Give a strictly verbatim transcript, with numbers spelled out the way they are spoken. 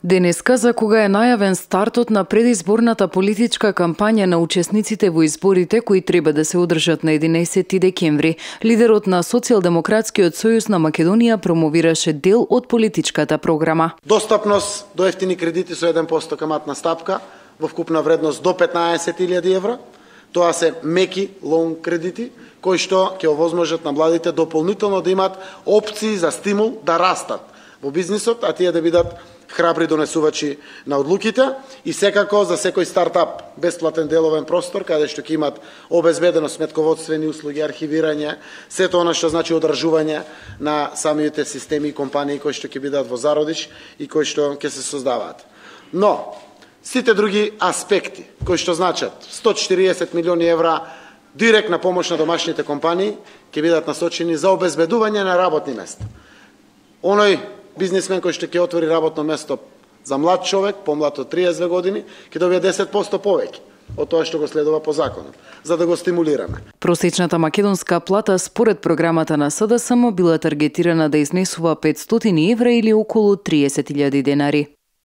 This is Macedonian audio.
Денеска, за кога е најавен стартот на предизборната политичка кампања на учесниците во изборите кои треба да се одржат на единаесети декември, лидерот на Социјалдемократскиот сојуз на Македонија промовираше дел од политичката програма. Достапност до ефтини кредити со еден процент каматна стапка во вкупна вредност до петнаесет илјади евра. Тоа се меки лоун кредити кои што ќе овозможат на младите дополнително да имаат опции за стимул да растат во бизнисот, а тие да бидат храбри донесувачи на одлуките и секако за секој стартап бесплатен деловен простор каде што ќе имат обезбедено сметководствени услуги, архивирање, сето она што значи одржување на самите системи и компании кои што ќе бидат во зародиш и кои што ќе се создаваат. Но сите други аспекти кои што значат сто и четириесет милиони евра директна помош на домашните компании ќе бидат насочени за обезбедување на работни места. Оној бизнисмен кој што ќе отвори работно место за млад човек, помлад од триесет години, ќе добие десет проценти повеќе од тоа што го следува по законот, за да го стимулираме. Просечната македонска плата според програмата на СДСМ била таргетирана да изнесува петстотини евра или околу триесет илјади денари.